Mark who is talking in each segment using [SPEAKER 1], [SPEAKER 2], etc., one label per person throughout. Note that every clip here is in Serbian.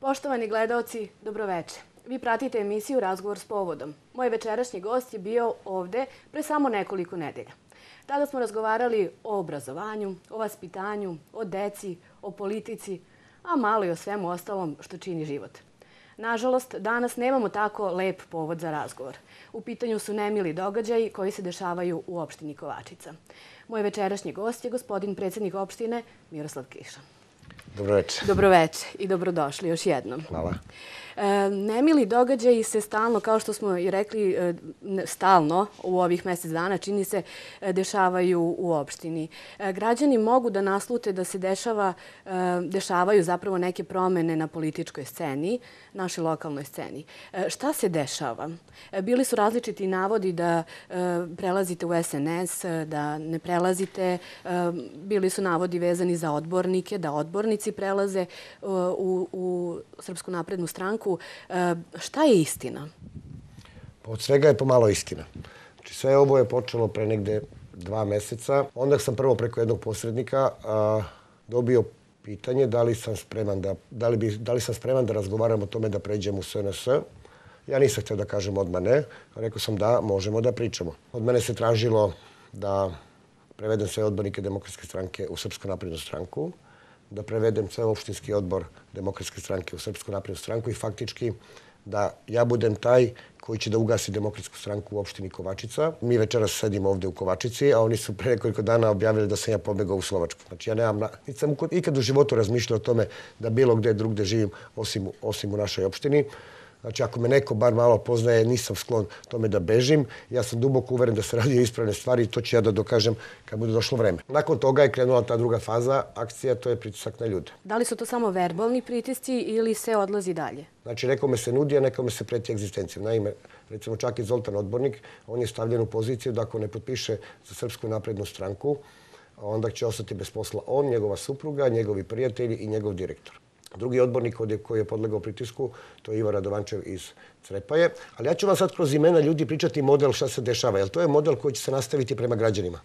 [SPEAKER 1] Poštovani gledaoci, dobroveče. Vi pratite emisiju Razgovor s povodom. Moj večerašnji gost je bio ovde pre samo nekoliko nedelja. Tada smo razgovarali o obrazovanju, o vaspitanju, o deci, o politici, a malo i o svemu ostalom što čini život. Nažalost, danas nemamo tako lep povod za razgovor. U pitanju su nemili događaji koji se dešavaju u opštini Kovačica. Moj večerašnji gost je gospodin predsjednik opštine Miroslav Kiša.
[SPEAKER 2] Dobroveče.
[SPEAKER 1] Dobroveče i dobrodošli još jednom.
[SPEAKER 2] Hvala.
[SPEAKER 1] Nemili događaji se stalno, kao što smo i rekli, stalno u ovih mjesec dana, čini se, dešavaju u opštini. Građani mogu da naslute da se dešavaju zapravo neke promene na političkoj sceni, našoj lokalnoj sceni. Šta se dešava? Bili su različiti navodi da prelazite u SNS, da ne prelazite. Bili su navodi vezani za odbornike, da odbornici prelaze u Srpsku naprednu stranku. Šta je istina?
[SPEAKER 2] Od svega je pomalo istina. Znači, sve ovo je počelo pre negde 2 meseca. Onda sam prvo preko jednog posrednika dobio pitanje da li sam spreman da razgovaram o tome da pređem u SNS. Ja nisam htio da kažem odmah ne. Rekao sam da, možemo da pričamo. Od mene se tražilo da prevedem sve odbornike Demokratske stranke u Srpsku naprednu stranku, da prevedem sve opštinski odbor Demokratske stranke u Srpsku naprednu stranku i faktički da ja budem taj koji će da ugasi Demokratsku stranku u opštini Kovačica. Mi večeras sedimo ovde u Kovačici, a oni su pre nekoliko dana objavili da sam ja pobegao u Slovačku. Znači ja niti sam ikad u životu razmišljao o tome da bilo gde drugde živim osim u našoj opštini. Znači, ako me neko bar malo poznaje, nisam sklon tome da bežim. Ja sam duboko uveren da se radi o ispravne stvari i to ću ja da dokažem kad bude došlo vreme. Nakon toga je krenula ta druga faza akcija, to je pritisak na ljude.
[SPEAKER 1] Da li su to samo verbalni pritisci ili se odlazi dalje?
[SPEAKER 2] Znači, nekome se nudi, a nekome se preti egzistencijom. Naime, recimo čak i Zoltan Odbornik, on je stavljen u poziciju da ako ne potpiše za Srpsku naprednu stranku, onda će ostati bez posla on, njegova supruga, njegovi prijatelji i njegov direktor. Drugi odbornik koji je podlegao pritisku, to je Ivo Radovančev iz Crepaje. Ali ja ću vam sad kroz imena ljudi pričati model šta se dešava, jer to je model koji će se nastaviti prema građanima.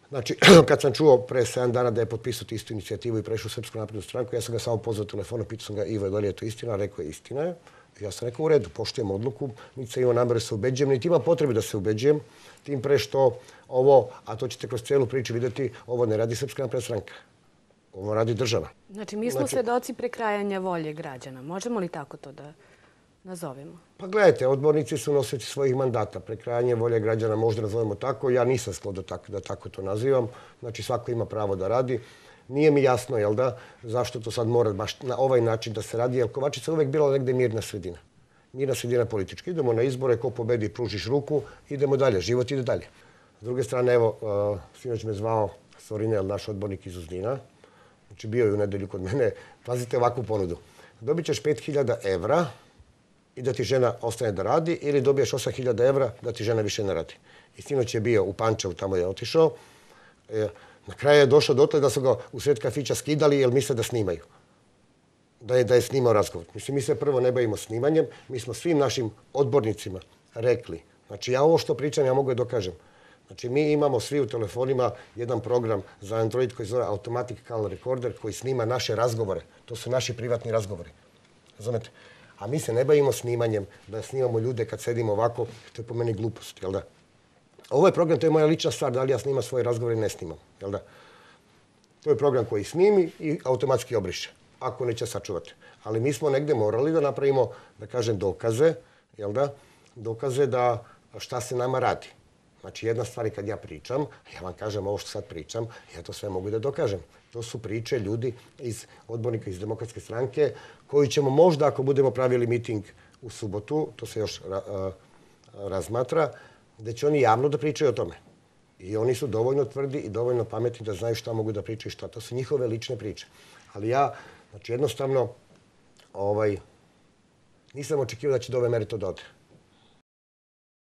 [SPEAKER 2] Znači, kad sam čuo pre 7 dana da je potpisao istu inicijativu i prešao u Srpsku naprednu stranku, ja sam ga samo pozvao telefonom, pitao sam ga, Ivo, da li je to istina? Rekao je, istina je. Ja sam rekao, u redu, poštujem odluku, niti sam imao nameru se ubeđujem, niti imam potrebu da se ubeđujem, tim pre što ovo, a to ćete kroz cijelu priču vidjeti, ovo ne radi Srpska napredna stranka. Ovo radi država.
[SPEAKER 1] Znači, mi smo svedoci prekrajanja volje građana. Možemo li tako to da nazovemo?
[SPEAKER 2] Pa gledajte, odbornici su nosioci svojih mandata. Prekrajanje volje građana možda nazovemo tako. Ja nisam sklon da tako to nazivam. Znači, svako ima pravo da radi. Nije mi jasno, jel da, zašto to sad mora baš na ovaj način da se radi, jer Kovačica uvek bila negde mirna sredina. Mirna sredina politička. Idemo na izbore, ko pobedi, pružiš ruku, idemo dalje, život ide dalje. S druge strane, evo, sinoć me zvao Sorinel, naš odbornik iz Uzdina. Znači, bio je u nedelju kod mene. Pazite ovakvu ponudu. Dobit ćeš 5.000 evra i da ti žena ostane da radi ili dobiješ 8.000 evra da ti žena više ne radi. I sinoć je bio u Pančevu, tamo je otišao. Na kraju je došao dotle da su ga u sred kafića skidali jer misle da snimaju. Da je snimao razgovor. Mislim, mi se prvo ne bavimo snimanjem. Mi smo svim našim odbornicima rekli. Znači, ja ovo što pričam, ja mogu je dokažem. Znači, mi imamo svi u telefonima jedan program za Android koji zove Automatic Call Recorder koji snima naše razgovore. To su naši privatni razgovori. Razumete? A mi se ne bavimo snimanjem, da snimamo ljude kad sedimo ovako, to je po meni glupost, jel da? Ovo je program, to je moja lična stvar, da li ja snimam svoje razgovore ili ne snimam, jel da? To je program koji snimi i automatski obriše, ako neće sačuvati. Ali mi smo negde morali da napravimo, da kažem, dokaze, jel da? Dokaze da šta se nama radi. Znači, jedna stvar je kad ja pričam, ja vam kažem ovo što sad pričam, ja to sve mogu da dokažem. To su priče ljudi iz odbornika iz Demokratske stranke koji ćemo možda, ako budemo pravili miting u subotu, to se još razmatra, da će oni javno da pričaju o tome. I oni su dovoljno tvrdi i dovoljno pametni da znaju šta mogu da pričaju i šta. To su njihove lične priče. Ali ja, znači, jednostavno, nisam očekivao da će do ove mere to da ode.